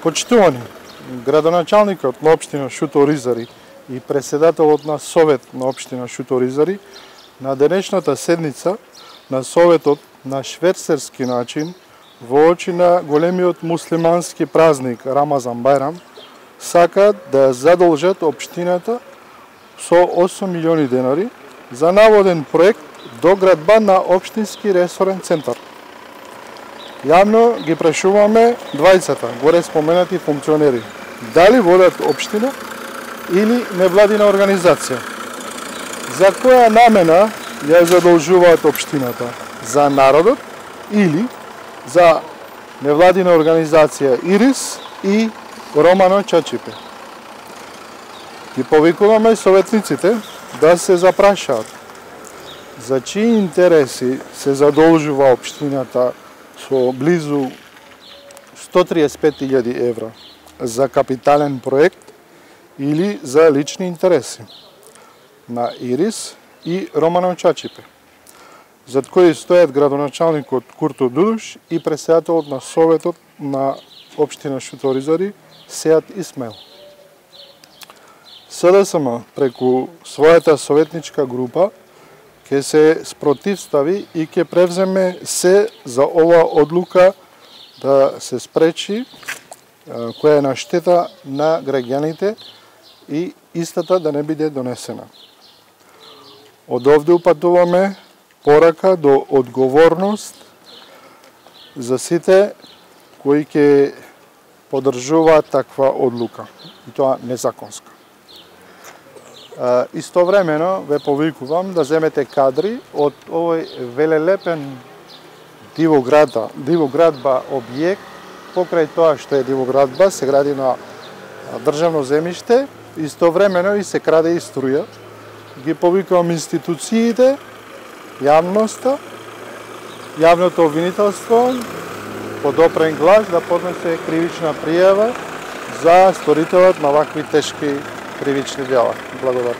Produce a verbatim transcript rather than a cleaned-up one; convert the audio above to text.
Почитувани, градоначалникот на општина Шуто Оризари и председателот на Совет на општина Шуто Оризари на денешната седница на Советот на шверцерски начин во очи на големиот муслимански празник Рамазан Бајрам сакаат да ја задолжат општината со осум милиони денари за наводен проект доградба на општински ресорен центар. Јавно ги прашуваме двајцата горе споменати функционери дали водат општина или невладина организација. За која намена ја задолжуваат општината? За народот или за невладина организација Ирис и Романо Чачипе? Ги повикуваме советниците да се запрашаат за чии интереси се задолжува општината со близу сто триесет и пет илјади евра за капитален проект или за лични интереси на Ирис и Романо Чачипе, зад кои стојат градоначалникот Курто Дудуш и председателот на Советот на општина Шуто Оризари Сеат Исмаил. СДСМ преку својата советничка група ќе се спротивстави и ќе превземе се за ова одлука да се спречи која е на штета на граѓаните и истата да не биде донесена. Од овде упатуваме порака до одговорност за сите кои ќе поддржуваат таква одлука, и тоа незаконска. Истовремено ве повикувам да земете кадри од овој велелепен дивоградба, дивоградба објект. Покрај тоа што е дивоградба се гради на државно земјиште, истовремено и се краде и струја. Ги повикувам институциите, јавноста, јавното обвинителство под опрен глас да поднесе кривична пријава за сторителот на вакви тешки кривични дела. Благодарам.